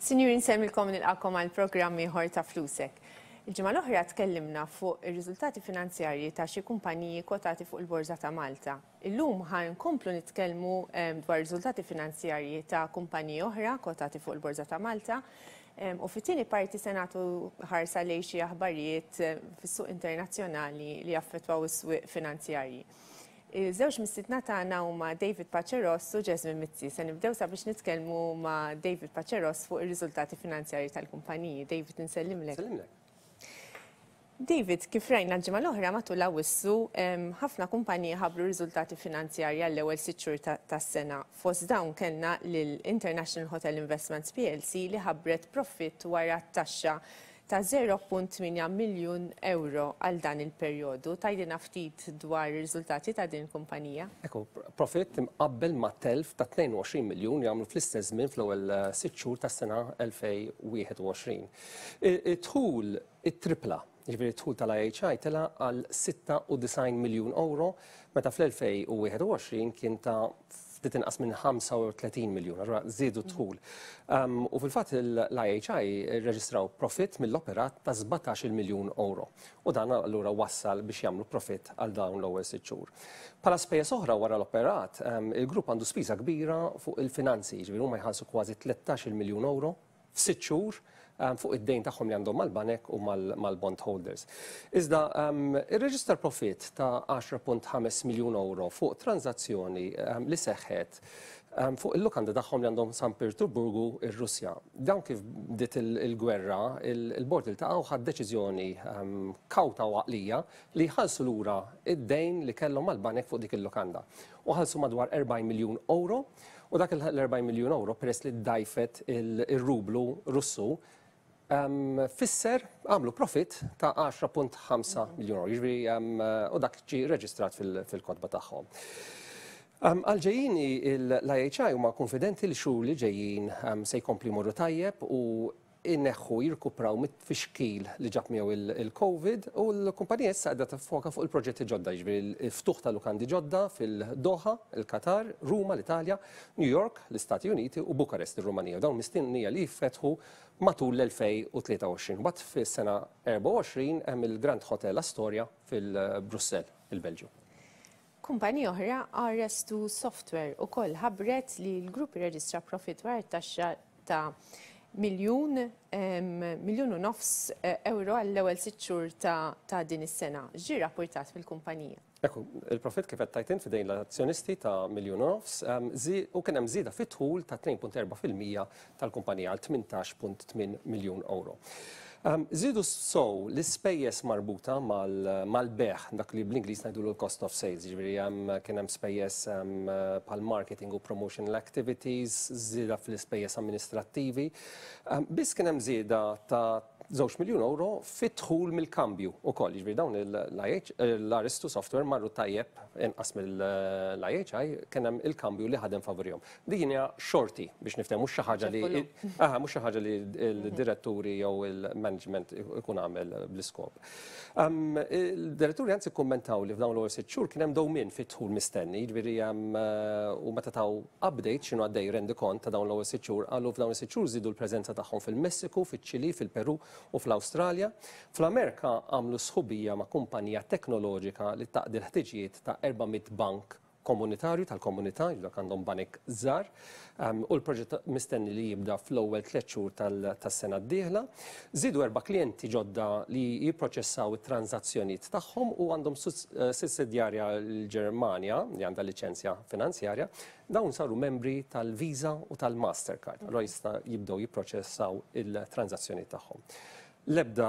Sinjuri nsemmilkom nilqakom għal programm ieħor ta' Flusek. Il-ġimgħa l-oħra tkellimna fuq ir-riżultati finanzjarji ta' xi kumpaniji kwotati fuq il-Borża ta' Malta. Illum ħa nkomplu nitkellmu dwar riżultati finanzjarji ta' kumpaniji oħra kwotati fuq il-Borża ta' Malta. U fit-tieni parti se nagħtu ħarsa lejn xi aħbarijiet fis-suq internazzjonali li jaffettwaw is-swieq finanzjarji. Iż-żewġ mistiedna tagħna huma David Pace Ross u Jasmine Mizzi. Se nibdew sabiex nitkellmu ma' David Pace Ross fuq ir-riżultati finanzjarji tal-kumpaniji. David, insellimlek. Sellimlek. David, kif rajna l-ġimgħa l-oħra matul Awwissu, ħafna kumpaniji ħabbru riżultati finanzjarji għall-ewwel sitt xhur tas-sena. Fost dawn kellna lil International Hotel Investments plc li ħabbret profitt wara t-taxxa ta' 0.8 miljun ewro għal dan il-perjodu. Tgħidilna ftit dwar ir-riżultati ta' din il-kumpanija? Ekku, profitt imqabbel ma' telf ta' 22 miljun li għamlu fl-istess żmien fl-ewwel sitt xhur tas-sena 2021. Id-dħul ittripla, jiġifieri d-dħul tal-IHI tela' għal 96 miljun ewro meta fl-2021 kien ta' ftit inqas minn 35 miljun, allura żiedu d-dħul. U fil-fatt l-IHI rreġistraw profitt mill-operat ta' 17-il miljun euro u dan allura wassal biex jagħmlu profitt għal dawn l-ewwel sitt xhur. Bħala spejjeż oħra wara l-operat, il-grupp għandu spiża kbira fuq il-finanzi, jiġifieri huma jħallsu kważi 13-il miljun euro f'sitt xhur fuq id-dejn tagħhom li għandhom mal-banek u mal-bond holders. Iżda irreġistra profitt ta' 10.5 miljun euro fuq tranżazzjoni li seħħet fuq il-lukanda tagħhom li għandhom San Pietroburgu, ir-Russja. Dawn kif bdiet il-gwerra, il-bord iltaqa' u ħa deċiżjoni kawta u għaqlija li jħallsu lura id-dejn li kellhom mal-banek fuq dik il-lukanda. U ħallsu madwar 40 miljun euro. U dak l-40 miljun euro peress li ddajfet ir-rublu Russu fisser għamlu profitt ta' 10.5 miljun euro. Jiġifieri u dak ġie reġistrat fil-kotba tagħhom. Għal-ġejjini l-IHI huma konfidenti li xhur li ġejjin se jkompli jmorru tajjeb u ineħħu jirkupraw mit-tfixkil li ġab miegħu il-Covid u l-kumpanija issa qiegħda tiffoka fuq il-proġetti ġodda, jiġifieri l-ftuħ ta' lukandi ġodda fil-Doha, il-Qatar, Ruma, l-Italja, New York, l-Istati Uniti u Bukarest, ir-Rumanija. Dawn mistennija li jiffetħu matul l-2023. Mbagħad fis-sena 24 hemm il-Grand Hotel Astoria fil-Brussell, il-Belġju. Kumpanija oħra, RS2 Software, ukoll ħabbret li l-grupp irreġistra profitt wara t-taxxa ta' miljun, miljun u nofs euro għall-ewwel sitt xhur ta' din is-sena. X'ġie rrappurtat mill-kumpanija? Ekku, il-profitt kif qed tgħid int f'idejn l-azzjonisti ta' miljun u nofs, u kien hemm żieda fid-dħul ta' 2.4% tal-kumpanija għal 18.8 miljun euro. Żiedu sew l-ispejjeż marbuta mal-bejgħ, dak li bl-Ingliż ngħidulu l-cost of sales, jiġifieri kien hemm spejjeż bħal marketing u promotional activities, żieda fl-ispejjeż amministrattivi. Biss kien hemm żieda ta' 2 miljun euro fid-dħul mill-kambju wkoll, jiġifieri dawn l-RS2 Software marru tajjeb inqas mill-IHI, kien hemm il-kambju li ħadem favorihom. Din hija xorti biex niftehmu, mhux xi ħaġa li aha, mhux xi ħaġa li l-diretturi jew il-management ikun għamel bl-iskop. Il-diretturi anzi kkummentaw li f'dawn l-ewwel sitt xhur kien hemm dewmien fid-dħul mistenni, jiġifieri u meta taw update x'inhu għaddej rendikont ta' dawn l-ewwel sitt xhur, qalu f'dawn is-sitt xhur żiedu l-preżenza tagħhom fil-Messiku, fiċ-Ċilì, fil-Peru u fl-Awstralja. Fl-Amerika għamlu sħubija ma' kumpanija teknoloġika li taqdi l-ħtiġijiet ta' 400 bank komunitarju tal-komunità, dak għandhom banek żgħar, u l-proġett mistenni li jibda fl-ewwel tliet xhur tas-sena d-dieħla. Żiedu erba' klijenti ġodda li jipproċessaw it-tranżazzjonijiet tagħhom u għandhom sussidjarja l-Ġermanja li għandha liċenzja finanzjarja. Dawn saru membri tal-Visa u tal-Mastercard, allura jista' jibdew jipproċessaw il-tranżazzjonijiet tagħhom. L-ebda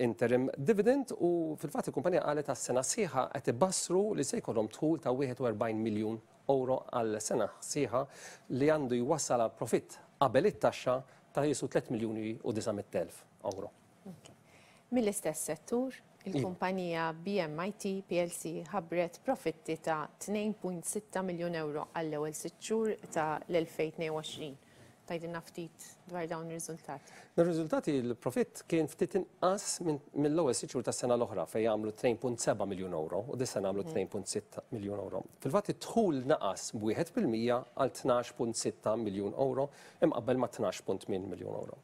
interim dividend u fil-fatt il-kumpanija qalet għas-sena sħiħa qed ibassru li se jkollhom dħul ta' 41 miljun euro għal sena sħiħa li għandu jwassal għal profitt qabel it-taxxa ta' jisu 3 miljuni u 900,000 euro. Mill-istess settur, il-kumpanija BMIT plc ħabbret profitti ta' 2.6 miljun euro għall-ewwel sitt xhur ta' l-2022. Tgħidilna ftit dwar dawn ir-riżultati. Ir-riżultati l-profitt kien ftit inqas mill-ewwel sitt xhur tas-sena l-oħra fejn għamlu 2.7 miljun euro u dis-sena għamlu 2.6 miljun euro. Fil-fatt id-dħul naqas b'1% għal 12.6 miljun euro imqabbel ma' 12.8 miljun euro.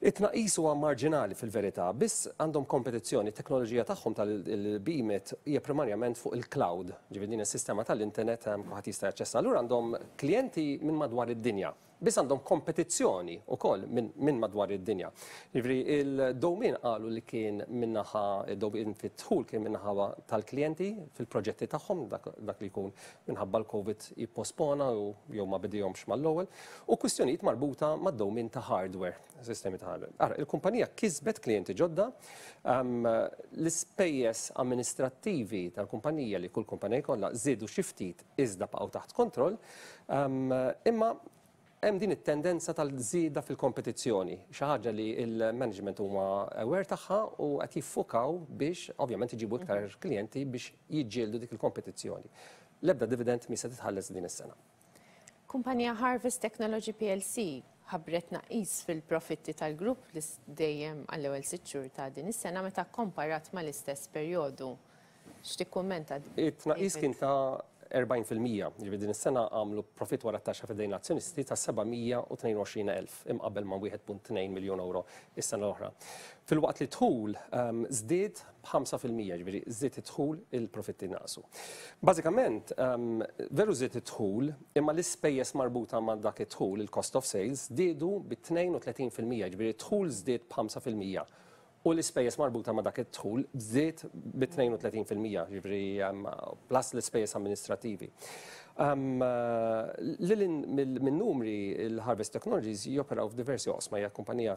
It-tnaqqis huwa marġinali fil-verità, biss għandhom kompetizzjoni, it-teknoloġija tagħhom tal-BMIT hija primarjament fuq il-cloud, ġifieri din is-sistema tal-internet kulħadd jista' jaċċessa. Allura għandhom klijenti minn madwar id-dinja, biss għandhom kompetizzjoni wkoll minn madwar id-dinja. Ġifieri il-dewmien qalu li kien min-naħa, id-dewmien fid-dħul kien min-naħa tal-klijenti fil-proġetti tagħhom, dak li jkun minħabba l-Covid jippospona u jew ma bidihomx mal-ewwel, u kwistjonijiet marbuta mad-dewmien ta' hardware, sistemi ta' hardware. Ara, il-kumpanija kisbet klijenti ġodda, l-ispejjeż amministrattivi tal-kumpanija li kull kumpanija jkollha żiedu xi ftit iżda baqgħu taħt kontroll, imma hemm din it-tendenza tal-żieda fil-kompetizzjoni, xi ħaġa li l-management huma aware tagħha u qed jiffukaw biex ovvjament iġibu iktar klijenti biex jiġġieldu dik il-kompetizzjoni. L-ebda dividend mi se titħalles din is-sena. Kumpanija Harvest Technology PLC ħabbret tnaqqis fil-profitti tal-grupp li dejjem għall-ewwel sitt xhur ta' din is-sena meta kkomparat mal-istess perjodu. X'tikkummenta? It-tnaqqis kien ta' 40%, jiġifieri din is-sena għamlu profitt wara t-taxxa f'idejn l-azzjonisti ta' 722,000 imqabbel ma' 1.2 miljun euro is-sena l-oħra. Filwaqt li d-dħul żdied b'5%, jiġifieri żdied id-dħul il-profitti naqsu. Bażikament, veru żdied id-dħul, imma l-ispejjeż marbuta ma' dak id-dħul, il-cost of sales, żdiedu bi 32%, jiġifieri d-dħul żdied b'5% u l-ispejjeż marbuta ma' dak id-dħul żdied bi 32%, jiġifieri plus l-ispejjeż amministrattivi. Lil hinn min-numri, il-Harvest Technologies joperaw f'diversi oqsma, hija kumpanija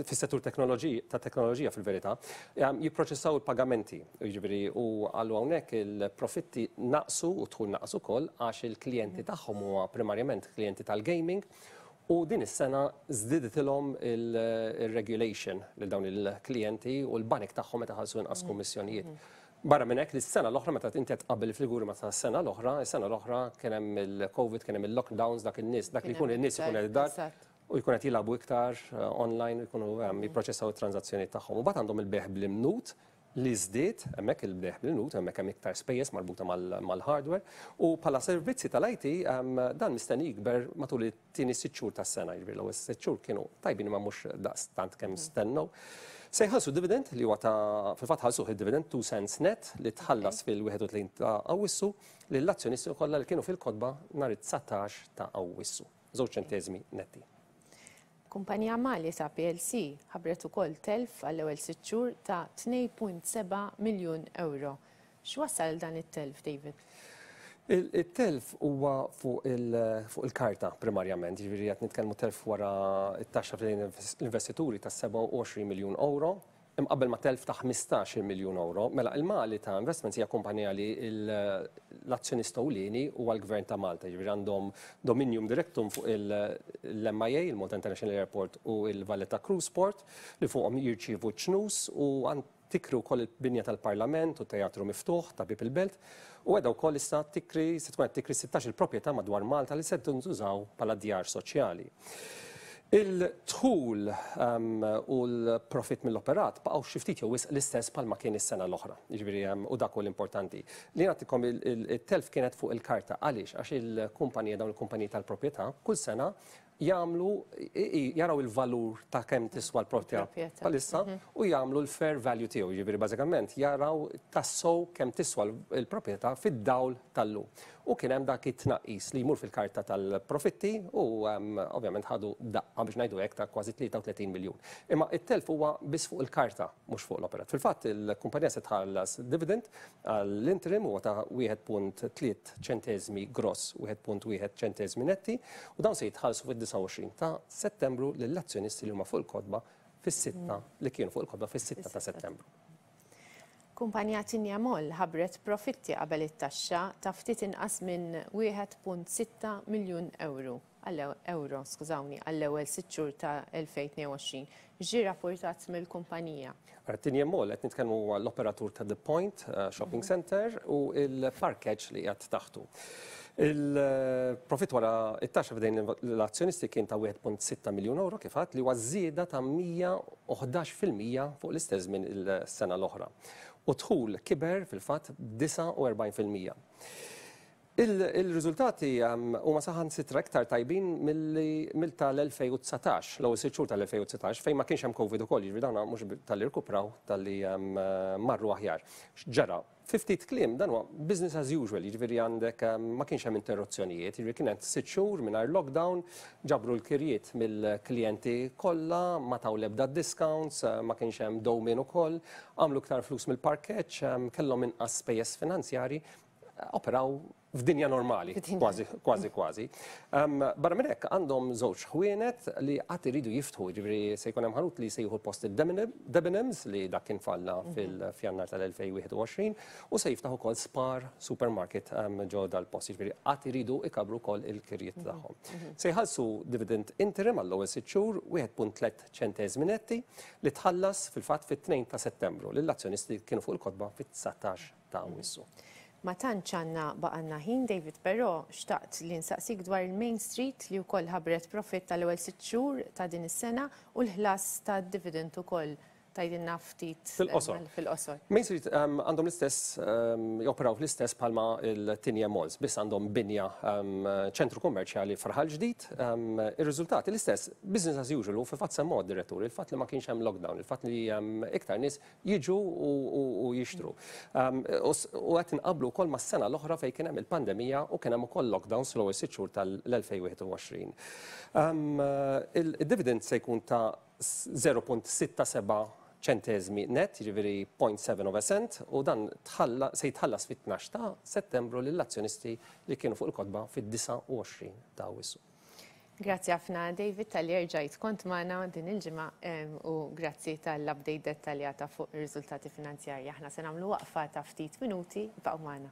fis-settur tat-teknoloġija fil-verità, jipproċessaw il-pagamenti, jiġifieri u qalu hawnhekk il-profitti naqsu u d-dħul naqas ukoll għax il-klijenti tagħhom huma primarjament klijenti tal-gaming U din is-sena żdiditilhom il-regulation lil dawn il-klijenti u l-banek tagħhom meta ħallsu inqas kummissjonijiet. Barra minn hekk li s-sena l-oħra meta inti qed tqabbel il-figuri ma' tas-sena l-oħra, is-sena l-oħra kien hemm il-Covid, kien hemm il-lockdowns, dak in-nies, dak li jkun in-nies ikun qed id-dar u jkun qed jilagħbu iktar online u jkunu jipproċessaw it-tranżazzjonijiet tagħhom. U mbagħad għandhom il-bejgħ bl-imnut li żdied, hemmhekk il-bejgħ bl-imnut, hemmhekk hemm iktar spejjeż marbuta mal-hardware, u bħala servizzi tal-IT dan mistenni jikber matul it-tieni sitt xhur tas-sena, jiġifieri l-ewwel sitt xhur kienu tajbin imma mhux daqstant kemm stennew. Se jħallsu dividend li huwa ta' fil-fatt ħallsuh id-dividend 2 cents net li tħallas fil-31 ta' Awwissu lill-azzjonisti kollha li kienu fil-kotba nhar it-19 ta' Awwissu. Żewġ ċenteżmi netti. Kumpanija Malita plc ħabbret ukoll telf għall-ewwel sitt xhur ta' 2.7 miljun ewro. X'wassal għal dan it-telf, David? It-telf huwa fuq il-karta primarjament, jiġifieri qed nitkellmu telf wara t-taxxa f'idejn l-investituri ta' 27 miljun ewro imqabbel ma' telf ta' 15-il miljun ewro. Mela, il-Malita Investments hija kumpanija li l-azzjonista ewlieni huwa l-Gvern ta' Malta, jiġifieri għandhom dominium directum fuq l-MIA, il-Malta International Airport u l-Valletta Cruise Port, li fuqhom jirċievu ċ-ċnus u tikri wkoll il-binja tal-Parlament u t-Teatru Miftuħ ta' Bieb il-Belt u qiegħda wkoll issa tikri se tkun qed tikri 16-il proprjetà madwar Malta li se tintużaw bħala djar soċjali. Il-dħul u l-profitt mill-operat baqgħu xi ftit jew wisq l-istess bħalma kien is-sena l-oħra. Jiġifieri u dak hu l-importanti. Li nagħtikom it-telf kienet fuq il-karta. Għaliex? Għax il-kumpanija dawn il-kumpaniji tal-proprjetà kull sena jagħmlu jaraw il-valur ta' kemm tiswa l-proprjetà bħalissa u jagħmlu l-fair value tiegħu. Jiġifieri bażikament jaraw tassew kemm tiswa l-proprjetà fid-dawl tal-lum. U kien hemm dak it-tnaqqis li jmur fil-karta tal-profitti u ovvjament ħadu daqqa biex ngħidu hekk ta' kważi 33 miljun. Imma it-telf huwa biss fuq il-karta mhux fuq l-operat. Fil-fatt il-kumpanija se tħallas dividend għall-interim huwa ta' 1.3 ċenteżmi gross, 1.1 ċenteżmi netti u dawn se jitħallsu fid-29 ta' Settembru lill-azzjonisti li huma fuq il-kotba fis-sitta li kienu fuq il-kotba fis-sitta ta' Settembru. Kumpanija Tinia Mall ħabbret profitti qabel it-taxxa ta' ftit inqas minn 1.6 miljun ewro ewro skużawni, għall-ewwel sitt xhur ta' 2022. X'ġie rappurtat mill-kumpanija? Tinia Mall qed nitkellmu huwa l-operatur ta' The Point Shopping Centre u l-parkeġġ li qiegħed taħtu. Il-profitt wara it-taxxa f'idejn l-azzjonisti kien ta' 1.6 miljun euro kif għadt li huwa żieda ta' 111% fuq l-istess żmien il-sena l-oħra. U dħul kiber fil-fatt b'49%. Il-riżultati huma saħansitra iktar tajbin milli mill tal-2019, l-ewwel sitt xhur tal-2019 fejn ma kienx hemm Covid ukoll, jiġifieri dawn mhux talli rkupraw talli marru aħjar. X'ġara? Fi ftit kliem dan huwa business as usual, jiġifieri għandek ma kienx hemm interruzzjonijiet, jiġifieri kienet sitt xhur mingħajr lockdown, ġabru l-kirjiet mill-klijenti kollha, ma taw l-ebda discounts, ma kienx hemm dewmien ukoll, għamlu iktar flus mill-parkeġġ, kellhom inqas spejjeż finanzjarji, operaw f'dinja normali, kważi, kważi, kważi. Barra minn hekk għandhom żewġ ħwienet li qatt iridu jiftħu, ġifieri se jkun hemm ħanut li se jieħu post il-Debenhams li dak kien falla fil-Fjannar tal-2021 u se jiftaħ ukoll Spar Supermarket ġo dal-post, ġifieri qatt iridu ikabru wkoll il-kirjiet tagħhom. Se jħallsu dividend interim għall-ewwel sitt xhur 1.3 ċenteżmi netti li tħallas fil-fatt fit-2 ta' Settembru lill-azzjonisti li kienu fuq il-kotba fit-19 ta' Awwissu. Ma tantx għandna baqgħalna ħin, David, però xtaqt li nsaqsik dwar il-Main Street li wkoll ħabbret profitt tal-ewwel sitt xhur ta' din is-sena u l-ħlas tad-dividend ukoll. Tgħidilna ftit Fil-qosor. Fil-qosor. Main Street għandhom l-istess, joperaw fl-istess bħalma l-Tigne Malls, biss għandhom binja ċentru kummerċjali f'Raħal Ġdid. Ir-riżultati l-istess, business as usual, u fil-fatt semmuha d-diretturi, il-fatt li ma kienx hemm lockdown, il-fatt li iktar nies jiġu u jixtru. U qed inqabblu wkoll mas-sena l-oħra fejn kien hemm il-pandemija u kien hemm ukoll lockdowns fl-ewwel sitt xhur tal-2021. Il-dividend se jkun ta' 0.67 ċenteżmi net, jiġifieri 0.7 of a cent, u dan se jitħallas fit-12 ta' Settembru lill-azzjonisti li kienu fuq il-kotba fid-29 ta' Awwissu. Grazzi ħafna, David, talli erġajt kont magħna din il-ġimgħa u grazzi tal-update dettaljata fuq ir-riżultati finanzjarji. Aħna se nagħmlu waqfa ta' ftit minuti, baqgħu magħna.